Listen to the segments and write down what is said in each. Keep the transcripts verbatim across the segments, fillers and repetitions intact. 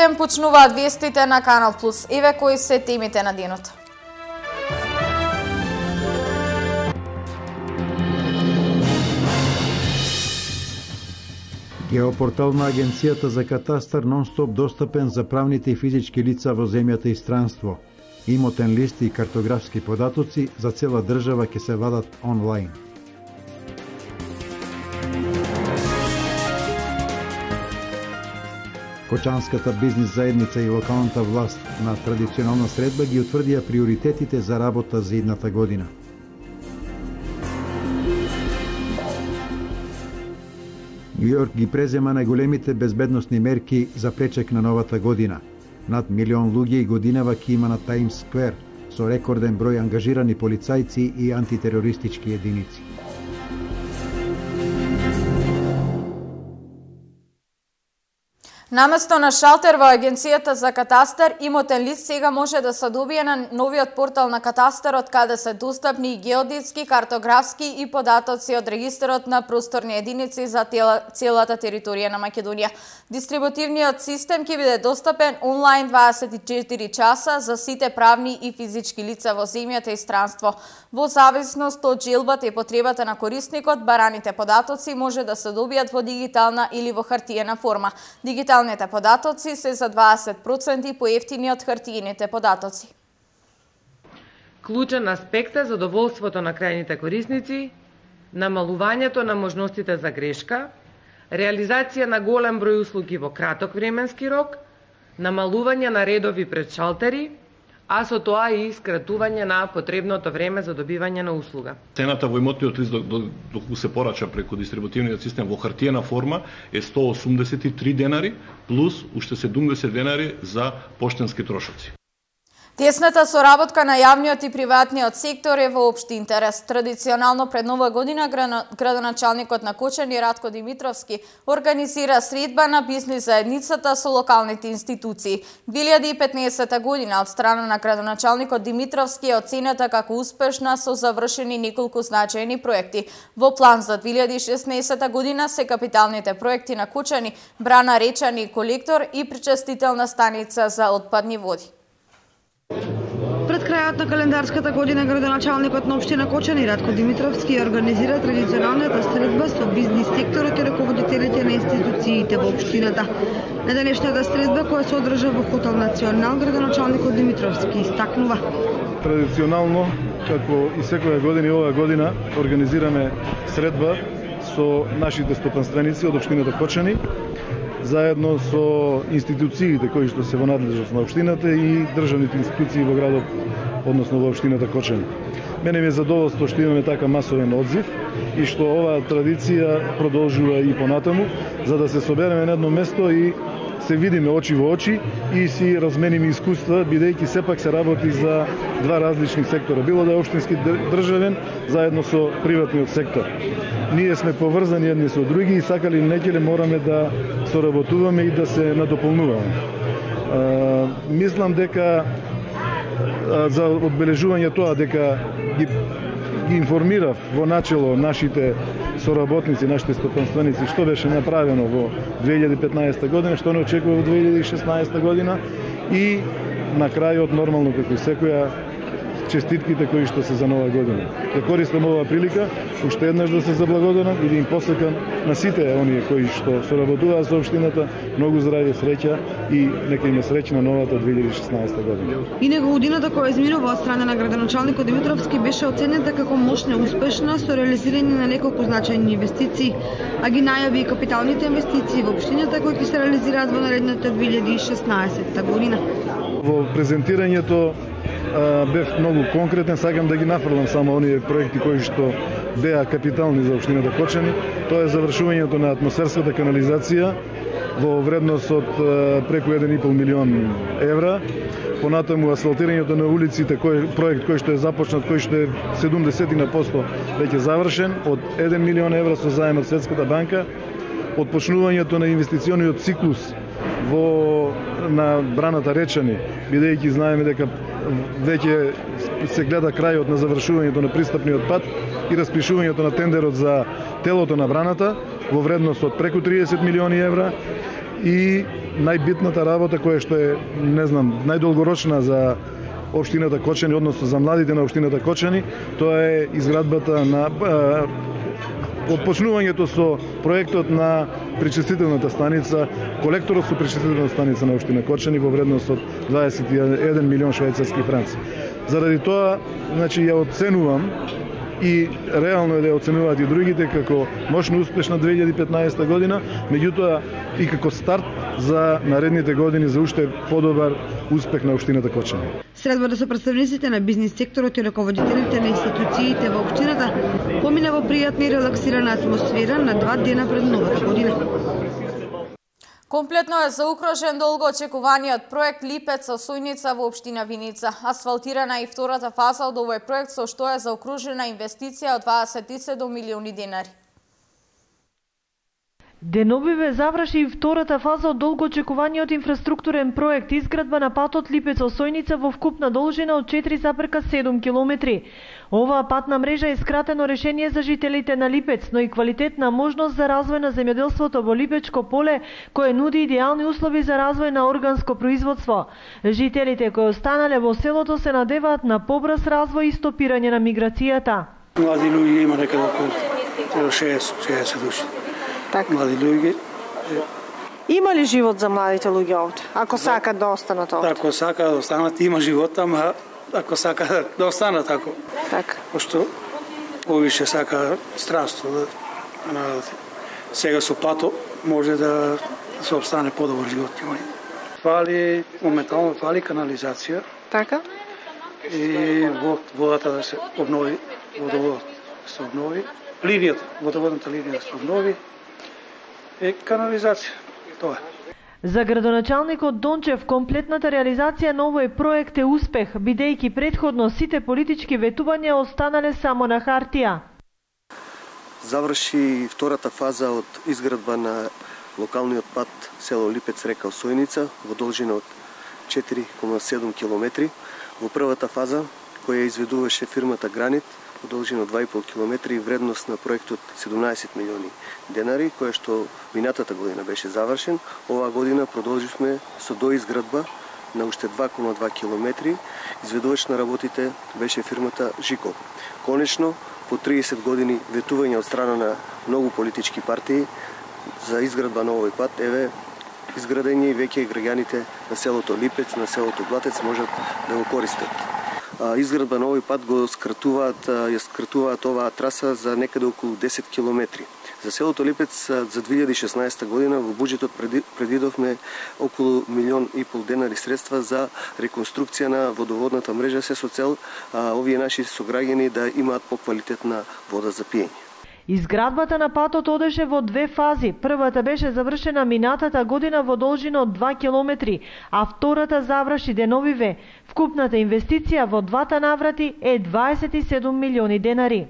ден почнуваат вестите на Канал Плюс. Еве кои се темите на денот. Геопортал на Агенцијата за катастар нон-стоп достапен за правните и физички лица во земјата и странство. Имотен лист и картографски податоци за цела држава ќе се вадат онлайн. Кочанската бизнис заедница и локалната власт на традиционална средба ги утврдија приоритетите за работа за идната година. Нью Йорк ги презема најголемите безбедносни мерки за пречек на новата година. Над милион луѓе и годинава ќе има на Таймс Сквер, со рекорден број ангажирани полицајци и антитерористички единици. Наместо на шалтер во Агенцијата за катастар, имотен лист сега може да се добие на новиот портал на катастарот, каде се достапни и геодетски, картографски и податоци од регистарот на просторни единици за целата територија на Македонија. Дистрибутивниот систем ќе биде достапен онлайн дваесет и четири часа за сите правни и физички лица во земјата и странство. Во зависност од желбата и потребата на корисникот, бараните податоци може да се добијат во дигитална или во хартиена форма. Дигиталните податоци се за дваесет проценти поевтини од хартиените податоци. Клучен аспект е задоволството на крајните корисници, намалувањето на можностите за грешка, реализација на голем број услуги во краток временски рок, намалување на редови пред шалтери, а со тоа и скратување на потребното време за добивање на услуга. Цената во имотниот лист доколку се порача преку дистрибутивниот систем во хартиена форма е сто осумдесет и три денари плюс уште седумдесет денари за поштенски трошоци. Тесната соработка на јавниот и приватниот сектор е во општи интерес. Традиционално пред Нова година градоначалникот на Кочани Радко Димитровски организира средба на бизнис заедницата со локалните институции. две илјади и петнаесета година од страна на градоначалникот Димитровски е оценета како успешна со завршени неколку значајни проекти. Во план за две илјади и шеснаесета година се капиталните проекти на Кочани, брана речани колектор и причестителна станица за отпадни води. Пред крајот на календарската година градоначалникот на општина Кочани Радко Димитровски организира традиционалната средба со бизнис секторот и раководителите на институциите во општината. На денешната средба која се одржа во Хотел Национал, градоначалникот Димитровски истакнува: традиционално, како и секоја година и оваа година, организираме средба со нашите стопанственици од општината Кочани, заедно со институциите кои што се во надлежност на општината и државните институции во градот, односно во општината Кочани. Мене ми е задоволство што имаме така масовен одзив и што оваа традиција продолжува и понатаму, за да се собереме на едно место и се видиме очи во очи и си размениме искуства, бидејќи сепак се работи за два различни сектора, било да е општински државен заедно со приватниот сектор. Ние сме поврзани едни со други и сакали или некеле мораме да соработуваме и да се надополнуваме. А, мислам дека а, за одбележување тоа дека ги, ги информирав во начело нашите соработници, нашите стопанственици што беше направено во две илјади и петнаесета година, што не очекува во две илјади и шеснаесета година и на крајот нормално како и секоја честитките кои што се за нова година. Ја користам оваа прилика уште еднаш да се заблагодарам и да им посакам на сите оние кои што соработуваат со општината многу здравје, среќа и нека им е среќна новата две илјади и шеснаесета година. И него годината која изминува од страна на градоначалникот Димитровски беше оценета како мощна и успешна со реализирање на неколку значајни инвестиции, а ги најави и капиталните инвестиции во општината кои ќе се реализираат во наредната две илјади и шеснаесета година. Во презентирањето бев многу конкретен, сакам да ги нафрлам само оние проекти кои што беа капитални за општината Кочани. Тоа е завршувањето на атмосферската канализација во вредност од преку еден и пол милион евра. Понатаму асфалтирањето на улиците, кој проект кој што е започнат, кој што е седумдесет на посто веќе завршен, од еден милион евра со заем од Светската банка. Отпочнувањето на инвестициониот циклус во на браната Речани, бидејќи знаеме дека веќе се гледа крајот на завршувањето на пристапниот пат и распишувањето на тендерот за телото на браната во вредност од преку триесет милиони евра и најбитната работа која што е, не знам, најдолгорочна за општината Кочани, односно за младите на општината Кочани, тоа е изградбата на отпочнувањето со проектот на пречистителната станица, колекторот со пречистителната станица на општина Кочани во вредност од дваесет и еден милион швајцарски франци. Заради тоа, значи, ја оценувам и реално е да ја оценуваат и другите како мощно успешна две илјади и петнаесета година, меѓутоа и како старт за наредните години за уште подобар успех на општината Кочани. Средбата со представниците на бизнис секторот и раководителите на институциите во општината помина во пријатна и релаксирана атмосфера на два дена пред новата година. Комплетно е заукружен долго очекуваниот проект Липец-Осојница во општина Виница. Асфалтирана е и втората фаза од овој проект, со што е заукружена инвестиција од дваесет и седум милиони денари. Деновиве заврши и втората фаза од долго очекуваниот инфраструктурен проект изградба на патот Липец-Осојница во вкупна должина од четири запирка седум километри. Оваа патна мрежа е скратено решение за жителите на Липец, но и квалитетна можност за развој на земјоделството во Липечко поле, кое нуди идеални услови за развој на органско производство. Жителите кои останале во селото се надеваат на побрз развој и стопирање на миграцијата. Млади луѓе има некаде околу шеесет души. Така. Млади луѓе. Има ли живот за младите луѓе овде? Ако сакат да останат овде? Ако сакаат да останат, има живот, ама ако сакаат да останат тако. Така. Пошто повише сака странство да на сега со пато може да се обстане подобар живот. Фали моментално фали канализација. Така. И водата да се обнови, водоводот да се обнови, линијата, водоводната линија да се обнови. Е канализација. Тоа е. За градоначалникот Дончев комплетната реализација на овој проект е успех, бидејќи претходно сите политички ветувања останале само на хартија. Заврши втората фаза од изградба на локалниот пат село Липец река Осојница во должина од четири кома седум километри. Во првата фаза, која изведуваше фирмата Гранит, во должина од два и пол километри и вредност на проектот седумнаесет милиони денари, која што минатата година беше завршен. Оваа година продолживме со доизградба на уште два кома два километри. Изведувач на работите беше фирмата Жико. Конечно, по триесет години ветување од страна на многу политички партии за изградба на овој пат, еве, изградење и веќе граѓаните на селото Липец, на селото Блатец можат да го користат. Изградба на овој пат го скратуваат, ја скратуваат оваа траса за некаде околу десет километри. За селото Липец за две илјади и шеснаесета година во буџетот предвидовме околу милион и пол денари средства за реконструкција на водоводната мрежа, се со цел а, овие наши сограѓани да имаат поквалитетна вода за пиење. Изградбата на патот одеше во две фази. Првата беше завршена минатата година во должина од два километри, а втората заврши деновиве. Вкупната инвестиција во двата наврати е дваесет и седум милиони денари.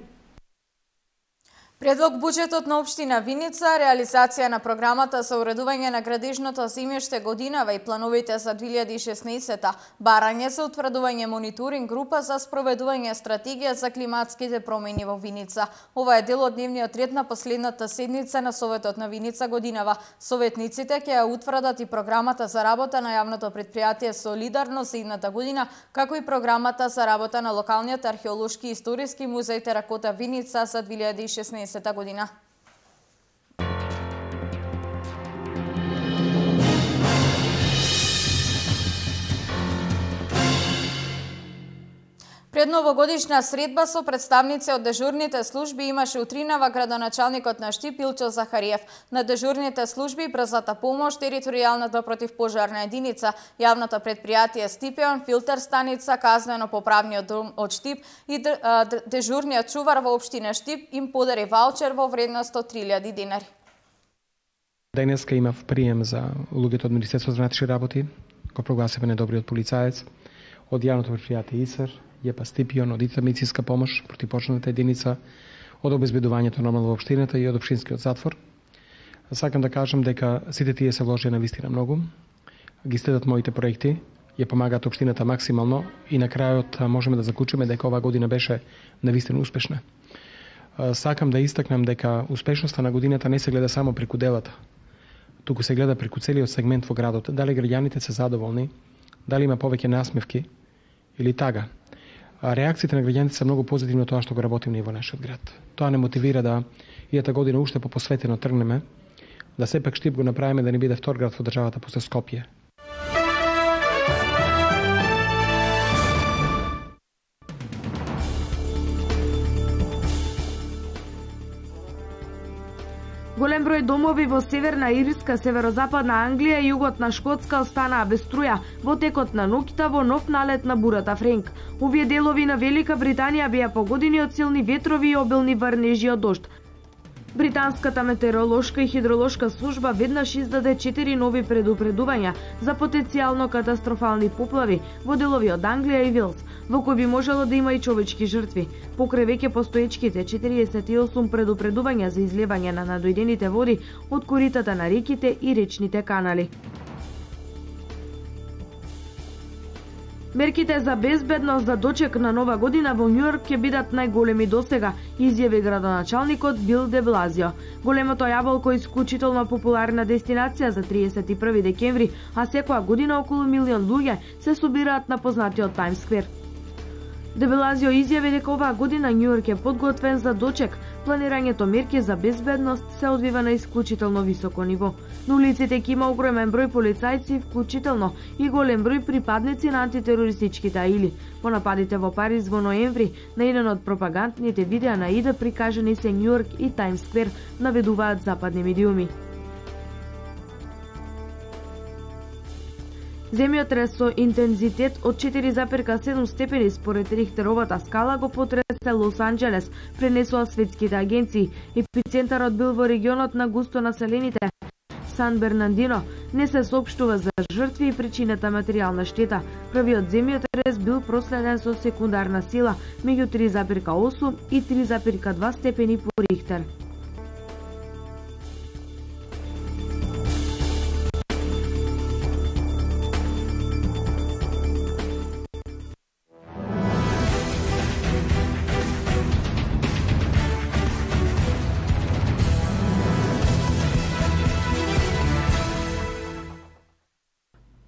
Предлог буџетот на општина Виница, реализација на програмата за уредување на градежното земјиште годинава и плановите за две илјади и шеснаесета, барање за утврдување мониторинг група за спроведување стратегија за климатските промени во Виница. Ова е дел од дневниот ред на последната седница на Советот на Виница годинава. Советниците ќе ја утврдат и програмата за работа на јавното претпријатие Солидарност за идната година, како и програмата за работа на локалниот археолошки и историски музеј Теракота Виница за две илјади и шеснаесета година. Пред новогодишна средба со представници од дежурните служби имаше утринава градоначалникот на Штип Илчо Захариев. На дежурните служби брзата помош, територијалната противпожарна единица, јавното претпријатие Стипеон, филтер станица, казнено-поправниот дом од Штип и дежурниот чувар во општина Штип им подари ваучер во вредност од три илјади денари. Денеска имав прием за луѓето од Министерството за внатрешни работи, го прогласивме недобриот полицаец, од јавното претпријатие ИСР, ЈЕПА Стипион, од ИТА медицинска помош, противпожарната единица, од обезбедувањето нормално во општината и од општинскиот затвор. Сакам да кажам дека сите тие се вложија навистина многу, ги следат моите проекти, ја помагаат општината максимално и на крајот можеме да заклучиме дека оваа година беше навистина успешна. Сакам да истакнам дека успешноста на годината не се гледа само преку делата. туку се гледа преку целиот сегмент во градот, дали граѓаните се задоволни, дали има повеќе насмевки или тага. А реакциите на граѓаните се многу позитивно тоа што го работим ние во нашиот град. Тоа не мотивира да иата година уште попосветено тргнеме, да сепак Штип го направиме да не биде втор град во државата после Скопје. Голем број домови во Северна Ирска, северозападна Англија и југот на Шкотска останаа без струја во текот на ноќта во нов налет на бурата Френк. Овие делови на Велика Британија беа погодени од силни ветрови и обилни врнежи од дожд. Британската метеоролошка и хидролошка служба веднаш издаде четири нови предупредувања за потенцијално катастрофални поплави во делови од Англија и Велс, во кои би можело да има и човечки жртви. Покрај веќе постоечките четириесет и осум предупредувања за излевање на надојдените води од коритата на реките и речните канали. Мерките за безбедност за дочек на Нова година во Њујорк ќе бидат најголеми досега, изјави градоначалникот Бил де Блазио. Големото јаболко е исклучително популарна дестинација за триесет и први декември, а секоја година околу милион луѓе се собираат на познатиот Таймс сквер. Де Блазио изјави дека оваа година Њујорк е подготвен за дочек. Планирањето мерки за безбедност се одвива на исклучително високо ниво. На улиците ќе има огромен број полицајци, вклучително и голем број припадници на антитерористичките аили. По нападите во Париз во ноември, на еден од пропагандните видеа на ИД прикажани се Њујорк и Таймс сквер, наведуваат западни медиуми. Земјотрес со интензитет од четири запирка седум степени според Рихтеровата скала го потресе Лос Анџелес, пренесоа светските агенции. Епицентарот бил во регионот на густо населените Сан Бернардино. Не се соопштува за жртви и причината материјална штета. Првиот земјотрес бил проследен со секундарна сила меѓу три запирка осум и три запирка два степени по Рихтер.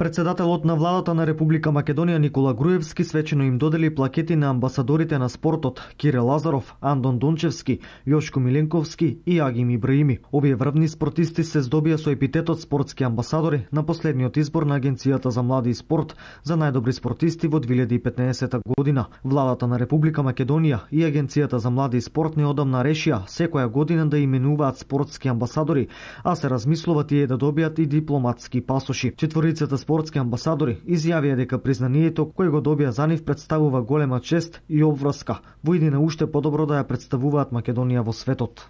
Председателот на владата на Република Македонија Никола Груевски свечено им додели плакети на амбасадорите на спортот Кире Лазаров, Андон Дончевски, Јошко Миленковски и Агим Ибраими. Овие врвни спортисти се здобија со епитетот спортски амбасадори на последниот избор на Агенцијата за млади и спорт за најдобри спортисти во две илјади и петнаесета година. Владата на Република Македонија и Агенцијата за млади и спорт неодамна решија секоја година да именуваат спортски амбасадори, а се размислува тие да добијат и дипломатски пасоши. Четворицата спортски амбасадори изјавија дека признанието кој го добија за нив представува голема чест и обврска во иднина уште подобро да ја представуваат Македонија во светот.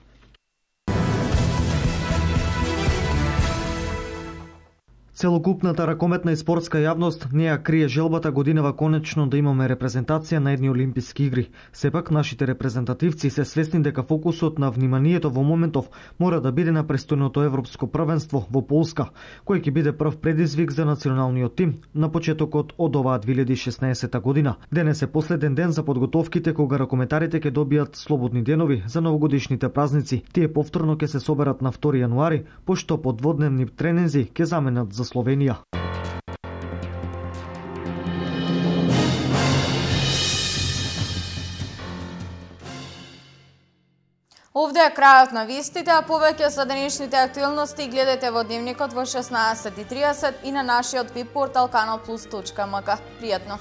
Целокупната ракометна и спортска јавност не ја крие желбата годинава конечно да имаме репрезентација на едни олимписки игри. Сепак нашите репрезентативци се свесни дека фокусот на вниманието во моментов мора да биде на престојното европско првенство во Полска, кој ќе биде прв предизвик за националниот тим на почетокот од оваа две илјади и шеснаесета година. Денес е последен ден за подготовките кога ракометарите ќе добијат слободни денови за новогодишните празници. Тие повторно ќе се соберат на втори јануари, пошто подводневни тренинзи ќе заменат за Словенија. Овде е крајот на вестите, а повеќе за денешните актуелности гледате во Дневникот во шеснаесет и тридесет и на нашиот веб портал канал плюс точка ем ка. Пријатно!